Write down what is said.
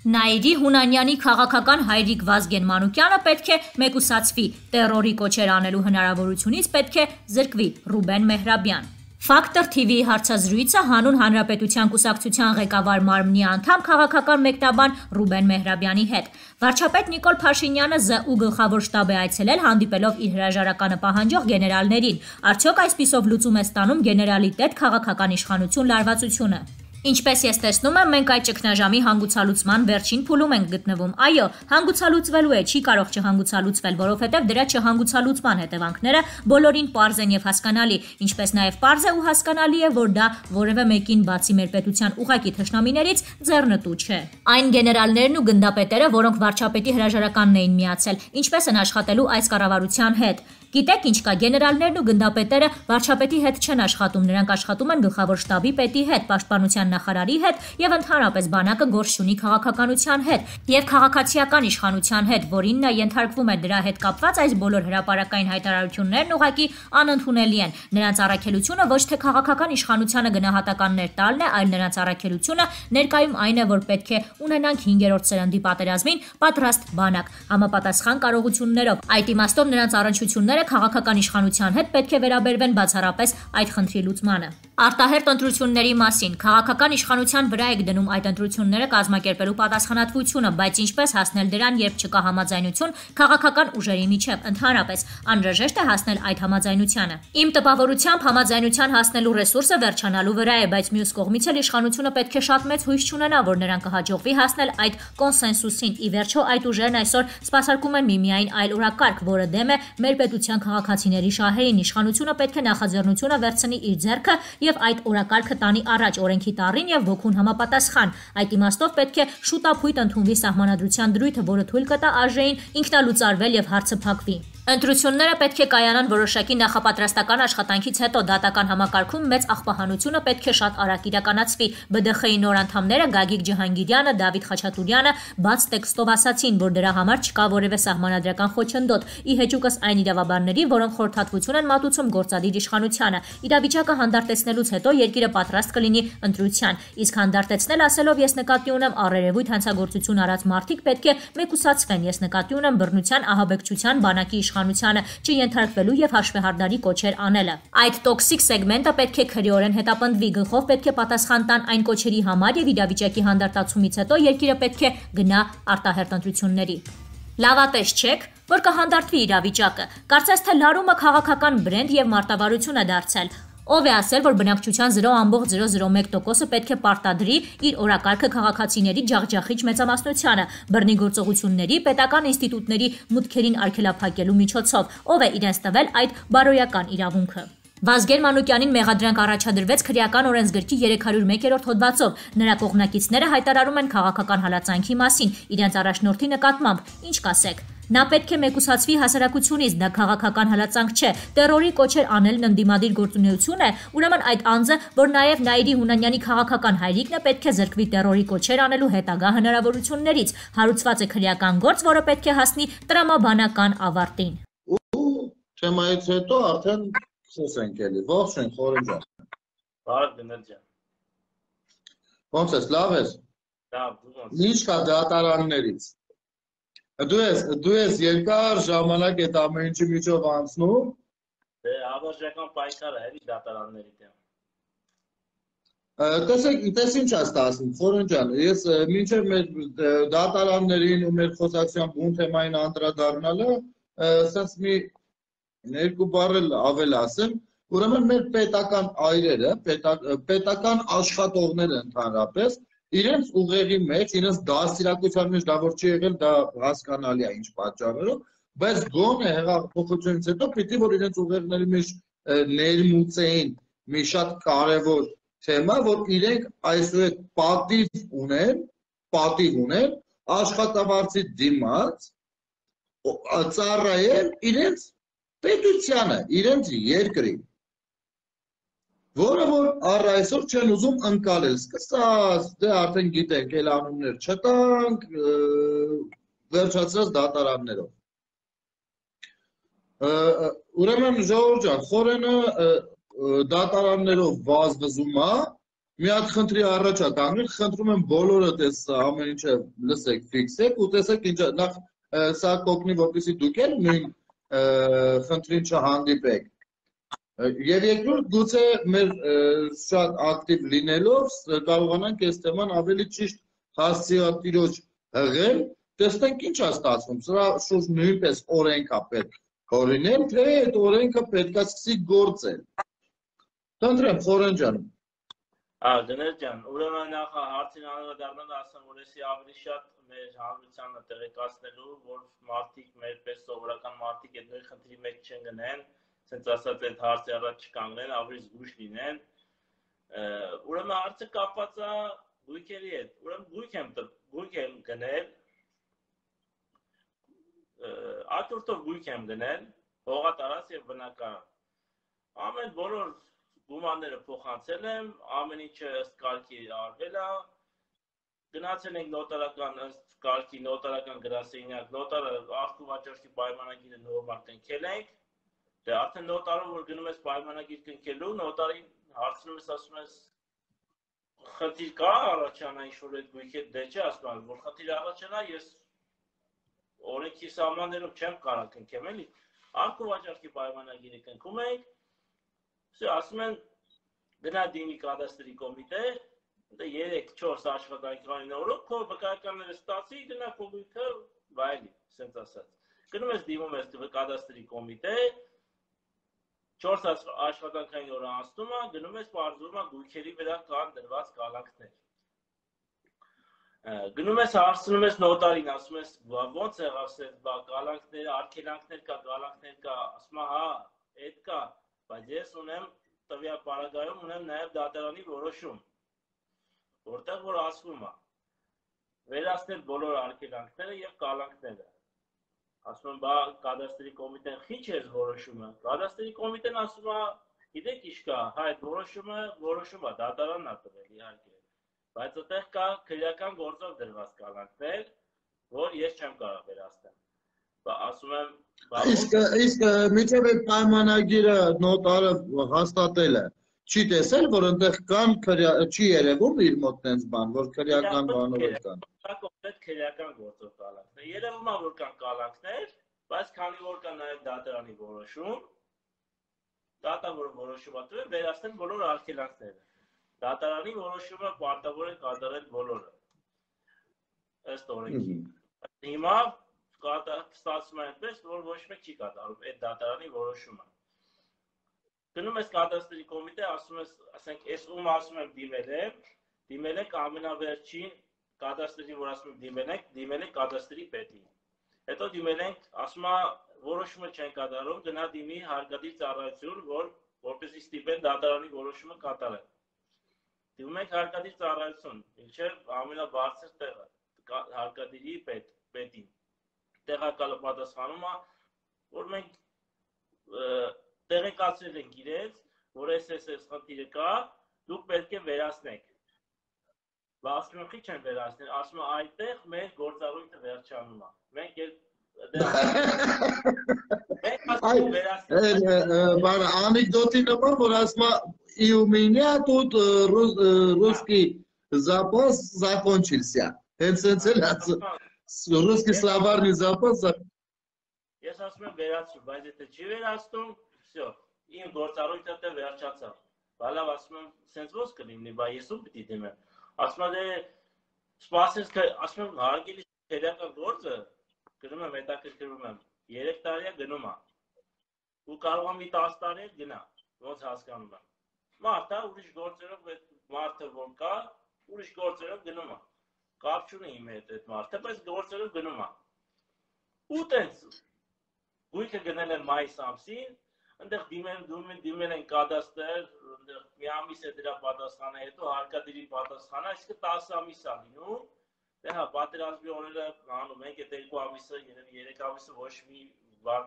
Նաիրի Հունանյանի քաղաքական հայրիկ Վազգեն Մանուկյանը պետք է մեկուսացվի, տերորի կոչեր անելու հնարավորությունից պետք է զրկվի Ռուբեն Մեհրաբյան։ Ֆակտոր TV-ի հարցազրույցը հանուն Հանրապետության կուսակցության ղեկավար մարմնի անդամ քաղաքական մեկնաբան Ռուբեն Մեհրաբյանի հետ։ Վարչապետ Նիկոլ Փաշինյանը ԶՈՒ գլխավոր շտաբ է այցելել, հանդիպելով իր հրաժարականը պահանջող գեներալներին։ Արդյոք այսպիսով լուծում է ստանում գեներալիտետ քաղաքական իշխանություն լարվածությունը։ Ինչպես ես տեսնում եմ, մենք այդ ճգնաժամի հանգուցալուծման վերջին փուլում ենք գտնվում։ Այո, հանգուցալուծվելու է, չի կարող չհանգուցալուծվել, որովհետև դրա չհանգուցալուծման հետևանքները բոլորին պարզ են եւ հասկանալի, ինչպես նաեւ պարզ է ու հասկանալի է, որ դա որևէ մեկին բացի մեր պետության ուղակի թշնամիներից ձեռնտու չէ։ Այն գեներալներն ու գնդապետերը, որոնք վարչապետի հրաժարականն էին միացել, ինչպես են աշխատելու այս կառավարության հետ։ Գիտեք ինչ կա, գեներալներն ու գնդապետերը վարչապետի հետ չեն աշխատում, նրանք աշխատում են գլխավոր շտաբի պետի հետ, պաշտպանության նախարարի հետ եւ ընդհանրապես բանակը գործ ունի քաղաքականության հետ եւ քաղաքացիական իշխանության հետ, որին նա ենթարկվում է, դրա հետ կապված այս բոլոր հրապարակային հայտարարություններն ուղղակի անընդունելի են։ Նրանց առաքելությունը ոչ թե քաղաքական իշխանությանը գնահատականներ տալն է, այլ նրանց առաքելությունը ներկայում այն է, որ պետք է ունենանք 5-րդ սերնդի պատերազմին պատրաստ բանակ, համապատասխան կարողություններով։ Այդ իմաստով նրանց առնչությունները քաղաքական իշխանության հետ պետք է վերաբերվեն բացառապես այդ խնդրի լուծմանը։ Արտահերտ ընտրությունների մասին քաղաքական իշխանության վրա եք դնում այդ ընտրությունները կազմակերպելու պատասխանատվությունը, բայց ինչպես հասնել դրան, երբ չկա համաձայնություն քաղաքական ուժերի միջև, ընդհանրապես անհրաժեշտ է հասնել այդ համաձայնությանը։ Իմ տպավորությամբ համաձայնության հասնելու ռեսուրսը վերջանալու վրա է, բայց մյուս կողմից էլ իշխանությունը պետք է շատ մեծ հույս չունենա, որ նրան կհաջողվի հասնել այդ կոնսենսուսին։ Ի վերջո այդ ուժերն այսօր սպասարկում են միմիայն այլ օրակարգ, որը դեմ է մեր պետության քաղաքացիների շահերին։ Իշխանությունը պետք է նախաձեռնությունը վերցնի իր ձեռքը եւ այդ օրակարգը տանի առաջ օրենքի տառին եւ ոգուն համապատասխան։ Այդ իմաստով պետք է շուտապույտ ընդունվի սահմանադրության դրույթը, որը թույլ կտա ԱԺ-ին ինքնալուծարվել եւ հարցը փակվի։ Ընտրությունները պետք է կայանան որոշակի նախապատրաստական աշխատանքից հետո, դատական համակարգում մեծ աղբահանությունը պետք է շատ արագ իրականացվի։ ԲԴԽ-ի նոր անդամները Գագիկ Ջհանգիրյանը, Դավիթ Խաչատուրյանը բաց տեքստով ասացին, որ դրա համար չկա որևէ սահմանադրական խոչընդոտ, ի հեճուկս այն իրավաբանների, որոնք խորհրդատվություն են մատուցում գործադիր իշխանությանը։ Իրավիճակը հանդարտեցնելուց հետո երկիրը պատրաստ կլինի ընտրության։ Իսկ հանդարտեցնել ասելով ես նկատի ունեմ առերևույթ հանցագործություն արած մարդիկ պետք է մեկուսացվեն, ես նկատի ունեմ բռնության, ահաբեկչության, բանակի իշխանությանը չենթարկվելու եւ հաշվեհարդարի կոչեր անելը։ Այդ տոքսիկ սեգմենտը պետք է քրեորեն հետապնդվի, գլխով պետք է պատասխան տան այն կոչերի համար եւ իրավիճակի հանդարտացումից հետո երկիրը պետք է գնա արտահերտ ընտրությունների։ Լավատես չեք, որ կհանդարտվի իրավիճակը։ Կարծես թե լարումը քաղաքական բրենդ եւ մարտավարություն է դարձել։ Ով է ասել, որ բնակչության 0.001%-ը պետք է պարտադրի իր օրակարգը քաղաքացիների ջախջախիչ մեծամասնությանը, բռնի գործողությունների, պետական ինստիտուտների մուտքերին արգելափակելու միջոցով, ով է իրենց տվել այդ բարոյական իրավունքը։ Վազգեն Մանուկյանին մեղադրանք առաջադրվեց քրեական օրենսգրքի 301-րդ հոդվածով։ Նրա կողմնակիցները հայտարարում են քաղաքական հալածանքի մասին, իրենց առաջնորդի նկատմամբ։ Ինչ կասեք։ Նա պետք է մեկուսացվի հասարակությունից, դա քաղաքական հալածանք չէ, տերորի կոչեր անելն ընդդիմադիր գործունեություն է, ուրեմն այդ անձը, որ նաև Նաիրի Հունանյանի քաղաքական հայրիկն է, պետք է զրկվի տերորի կոչեր անելու հետագա հնարավորություններից, հարուցված է քրեական գործ, որը պետք է հասնի տրամաբանական ավարտին։ Թեմայից հետո արդեն խոսենք էլի, ողջույն Խորեն ջան։ Բարև Դներ ջան։ Ոնց ես, լավ ես։ Լավ, ինչ կա դատարաններից։ Դու ես երկար ժամանակ այդ ամեն ինչի միջով անցնում։ Դե ավարժական պայքարը էլի դատարանների դեմ։ Տեսեք, ինչ աստ ասում, Խորեն ջան, ես մինչև մեր դատարաններին ու մեր խոսակցության բուն թեմային անդրադառնալը, ասած մի երկու բառ ավել ասեմ, ուրեմն մեր պետական այրերը, պետական աշխատողները ընդհանրապես իրենց ուղեղի մեջ, իրենց դաստիարակության մեջ դա որ չի եղել, դա հասկանալի է ինչ պատճառներով, բայց գոնե հեղափոխությունից հետո պիտի որ իրենց ուղեղների մեջ ներմուծեին մի շատ կարևոր թեմա, որ իրենք այսուհետ պատիվ ունեն աշխատավարձի դիմաց ծառայել իրենց պետությանը, իրենց երկրին, որը որ առ այսօր չեն ուզում ընկալել, սկսած, դե արդեն գիտենք, էլ անուններ չտանք, վերջացրած դատարաններով։ Ուրեմն ժողովուրդ ջան, Խորենը դատարաններով վազվզում է, մի հատ խնդրի առաջ է կանգնել, խնդրում եմ բոլորդ այս ամեն ինչը լսեք, ֆիքսեք ու տեսեք ինչ նախ սա կօգնի, որպեսզի դուք էլ նույն խնդրին չհանդիպեք։ Եվ երկրորդ գուցե մեր շատ ակտիվ լինելով կարողանանք այս թեման ավելի ճիշտ հասցեատիրոջ հղել, տեսնենք ինչ է ստացվում։ Սրա շուրջ նույնպես օրենք է պետք հորինել, թե այդ օրենքը պետք է սկսի գործել։ Խնդրեմ, Խորեն ջան։ Դներ ջան, ուրեմն նախ հարցին անդրադառնալ ասեմ, որ էսի ավելի շատ մեր հանրությանը տեղեկացնելու, որ մարդիկ մեր պես սովորական մարդիկ այդ նույն խնդրի մեջ չեն գնեն, ասենց ասած այդ հարցի առաջ չկանգնեն, ավելի զգույշ լինեն։ Ուրեմն հարցը կապված է գույքերի հետ։ Ուրեմն գույք եմ գնել, աթուրթով գույք եմ գնել, հողատարած եւ բնակարան։ Ամեն բոլոր գումարները փոխանցել եմ, ամեն ինչը ըստ կարգի արվել է, գնացել ենք նոտարական ըստ կարգի նոտարական գրասենյակ, նոտարը արխիվ վաճառքի պայմանագիրը նորմալ կնքել ենք, դե արդեն նոտարը որ գնում ես պայմանագիր կնքելու, նոտարին հարցնում ես, ասում ես խնդիր կա առաջանա ինչ-որ այդ գույքի դե չէ ասում, որ խնդիր առաջանա, ես օրենքի սահմաններով չեմ կարող կնքեմ, էլի, արխիվ վաճառքի պայմանագիրը կնքում ենք, ասում են գնա դիմի կադաստրի կոմիտե, 3-4 աշխատանքային օրոք քո վկայականները ստացի, գնա քո գույքը վայելի, ասենց ասած։ Գնում ես դիմում ես կադաստրի կոմիտե, 4 աշխատանքային օր անցնում է, գնում ես պարզվում է գույքերի վրա կան դրված կալանքներ։ Գնում ես հարցնում ես նոտարին, ասում ես ոնց եղավ կալանքներ, արգելանքներ կա, կալանքներ կա, ասում է հա, այդ կա, բայց ես ունեմ տվյալ պարագայում ունեմ նաև դատարանի որոշում, որտեղ որ ասվում է վերացնել բոլոր արգելանքները եւ կալանքները։ Ասում եմ, բա կադաստրի կոմիտեն խիչ է որոշումը։ Կադաստրի կոմիտեն ասում է, գիտեք ինչ կա, հա այդ որոշում է, դատարանն է տվել իհարկե։ Բայց այդտեղ կա քրեական գործով դրված կալանքներ, որ ես չեմ կարող վերացնել։ Ասում եմ, իսկ միջև այդ պայմանագիրը նոտարը հաստատել է, չի տեսել, որ այնտեղ կան չի երևում իր մոտ տենց բան, որ քրեական բանով կան։ Դա կոնկրետ քրեական գործով կալանքներ։ Երևում է, որ կան կալանքներ, բայց քանի որ կա նաև դատարանի որոշում, դատավորը որոշում է տվել վերացնել բոլոր արգելանքները։ Դատարանի որոշումը պարտավոր է կատարել բոլորը։ Ըստ օրենքի։ Հիմա ստացվում է այնպես, որ ոչ մեկ չի կատարում այդ դատարանի որոշումը։ Գնում ես կադաստրի կոմիտե, ասում ես, ասենք, ես ում ասում եմ դիմել եք ամենավերջին կադաստրի, որ ասում եմ դիմել եք կադաստրի պետին։ Հետո դիմել ենք, ասում է, որոշումը չեն կատարում, գնա դիմի հարկադիր ծառայություն, որպեսզի ստիպեն դատարանի որոշումը կատարել։ Դիմում ենք հարկադիր ծառայություն, ինչև ամենաբարձր տեղը, հարկադիրի պետին։ Տեղակալը պատասխանում է, որ մենք տեղեկացրել ենք իրենց, որ այս խնդիրը կա, դուք պետք է վերացնեք։ Ասում եմ, քիչ են վերացնել, ասում եմ, այդտեղ մեր գործառույթը վերջանում է։ Մենք անեկդոտի նման, որ ասում է, и у меня тут русский запас закончился։ Հենց էլ ռուսկի սլավարնի запас։ Ես ասում եմ վերացու, բայց եթե չի վերացնում, всё, իմ գործառույթը դե վերջացավ։ Բալավ ասում եմ, սենց ոնց կլինի, բա ես ու պիտի դիմեմ։ Ասում եմ, դե սպասես, ասում եմ, հարգելի քրեական գործը, գնում եմ հետաքրքրվում եմ, 3 տարի է գնում է։ Ու կարող եմ մի 10 տարի գնա, ոնց հասկանում եմ։ Մարդը ուրիշ գործերով մարդը որ կա, ուրիշ գործերով գնում է։ Կապ չունի իմ հետ այդ մարդը, բայց գործերով գնում է։ Ու տենց գույքը գնել են մայիս ամսին, այնտեղ դիմել են կադաստր, այնտեղ մի ամիս է դրա պատասխանը, հետո հարկադիրի պատասխանը, այսինքն 10 ամիս է լինում։ Դե հա, պատերազմի օրերը անում ենք, այդ 2 ամիսը, երևի 3 ամիսը ոչ մի բան